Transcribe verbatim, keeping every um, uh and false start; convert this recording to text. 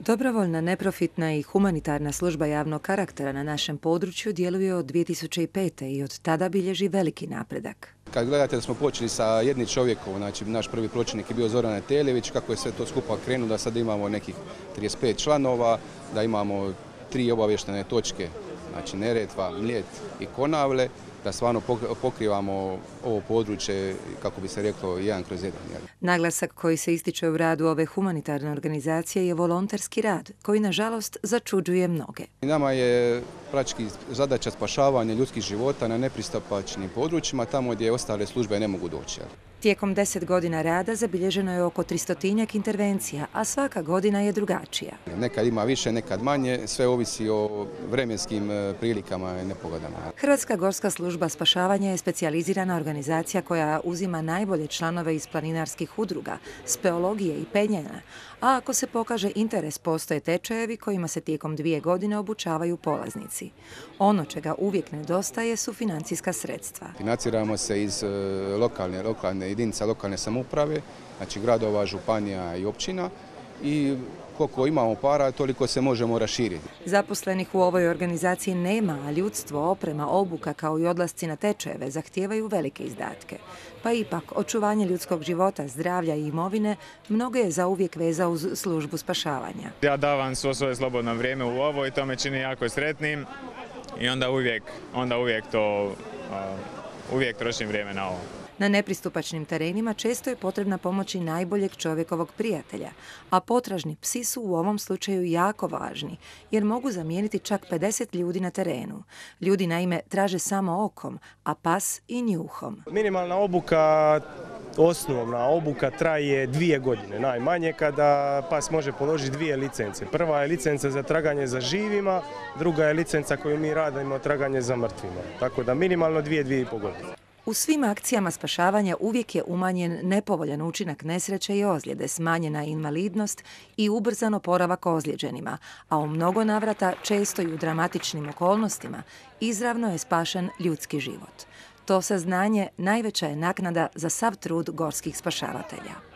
Dobrovoljna, neprofitna i humanitarna služba javnog karaktera na našem području djeluje od dvije tisuće pete. i od tada bilježi veliki napredak. Kad gledate da smo počeli sa jednim čovjekom, znači naš prvi pročelnik je bio Zoran Eteljević, kako je sve to skupa krenulo, da sad imamo nekih trideset pet članova, da imamo tri obavještene točke, znači Neretva, Mljet i Konavle, da stvarno pokrivamo ovo područje, kako bi se reklo, jedan kroz jedan. Naglasak koji se ističe u radu ove humanitarne organizacije je volonterski rad, koji nažalost začuđuje mnoge. Nama je praktički zadaća spašavanja ljudskih života na nepristupačnim područjima, tamo gdje ostale službe ne mogu doći. Tijekom deset godina rada zabilježeno je oko tristotinjak intervencija, a svaka godina je drugačija. Nekad ima više, nekad manje, sve ovisi o vremenskim prilikama i nepogodama. Hrvatska gorska služba spašavanja je specijalizirana organizacija koja uzima najbolje članove iz planinarskih udruga, speologije i penjena, a ako se pokaže interes, postoje tečajevi kojima se tijekom dvije godine obučavaju polaznici. Ono čega uvijek nedostaje su financijska sredstva. Financiramo se iz lokalne, lokalne jedinica lokalne samouprave, znači gradova, županija i općina, i koliko imamo para, toliko se možemo raširiti. Zaposlenih u ovoj organizaciji nema, a ljudstvo, oprema, obuka kao i odlasci na tečajeve zahtijevaju velike izdatke. Pa ipak, očuvanje ljudskog života, zdravlja i imovine mnogo je zauvijek veza uz službu spašavanja. Ja davam svo svoje slobodno vrijeme u ovo i to me čini jako sretnim i onda uvijek, onda uvijek to, uh, uvijek trošim vrijeme na ovo. Na nepristupačnim terenima često je potrebna pomoć i najboljeg čovjekovog prijatelja, a potražni psi su u ovom slučaju jako važni, jer mogu zamijeniti čak pedeset ljudi na terenu. Ljudi naime traže samo okom, a pas i njuhom. Minimalna obuka, osnovna obuka traje dvije godine najmanje, kada pas može položiti dvije licence. Prva je licenca za traganje za živima, druga je licenca koju mi radimo traganje za mrtvima. Tako da minimalno dvije, dvije i pol godine. U svim akcijama spašavanja uvijek je umanjen nepovoljan učinak nesreće i ozljede, smanjena invalidnost i ubrzan oporavak ozlijeđenima, a u mnogo navrata, često i u dramatičnim okolnostima, izravno je spašen ljudski život. To saznanje najveća je naknada za sav trud gorskih spašavatelja.